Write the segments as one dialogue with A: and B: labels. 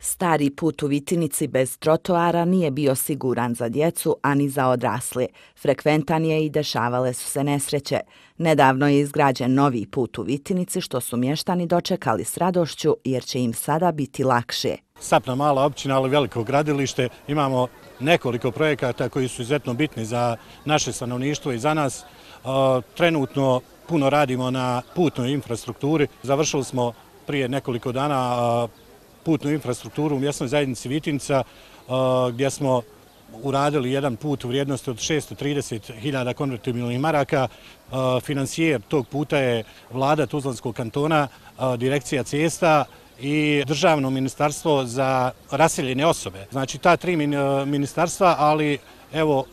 A: Stari put u Vitinici bez trotoara nije bio siguran za djecu, a ni za odrasle. Frekventan je i dešavale su se nesreće. Nedavno je izgrađen novi put u Vitinici, što su mještani dočekali s radošću, jer će im sada biti lakše.
B: Sapna mala općina, ali veliko gradilište. Imamo nekoliko projekata koji su izuzetno bitni za naše stanovništvo i za nas. Trenutno puno radimo na putnoj infrastrukturi. Završili smo prije nekoliko dana putnu infrastrukturu u mjesnoj zajednici Vitinica, gdje smo uradili jedan put u vrijednosti od 630.000 konvertibilnih maraka. Financijer tog puta je vlada Tuzlanskog kantona, direkcija cesta i Državno ministarstvo za raseljene osobe. Znači ta tri ministarstva, ali evo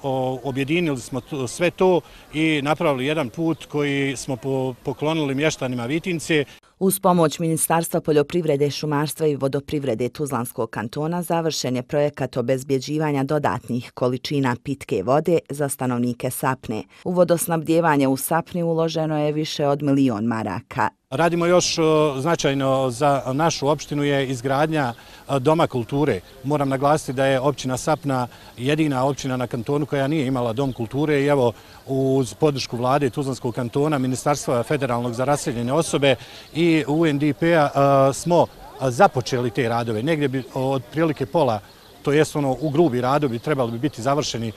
B: objedinili smo sve to i napravili jedan put koji smo poklonili mještanima Vitince.
A: Uz pomoć Ministarstva poljoprivrede, šumarstva i vodoprivrede Tuzlanskog kantona završen je projekat obezbjeđivanja dodatnih količina pitke vode za stanovnike Sapne. U vodosnabdijevanje u Sapni uloženo je više od 1 milion maraka.
B: Radimo još značajno za našu opštinu je izgradnja doma kulture. Moram naglasiti da je općina Sapna jedina općina na kantonu koja nije imala dom kulture i evo uz podršku vlade Tuzlanskog kantona, Ministarstva federalnog za raseljene osobe i UNDP-a smo započeli te radove. Negdje bi otprilike pola, to jest u grubi radovi trebali bi biti završeni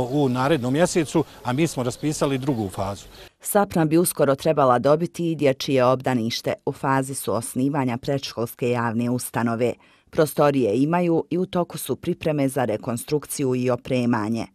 B: u narednom mjesecu, a mi smo raspisali drugu fazu.
A: Sapna bi uskoro trebala dobiti i dječje obdanište. U fazi su osnivanja predškolske javne ustanove. Prostorije imaju i u toku su pripreme za rekonstrukciju i opremanje.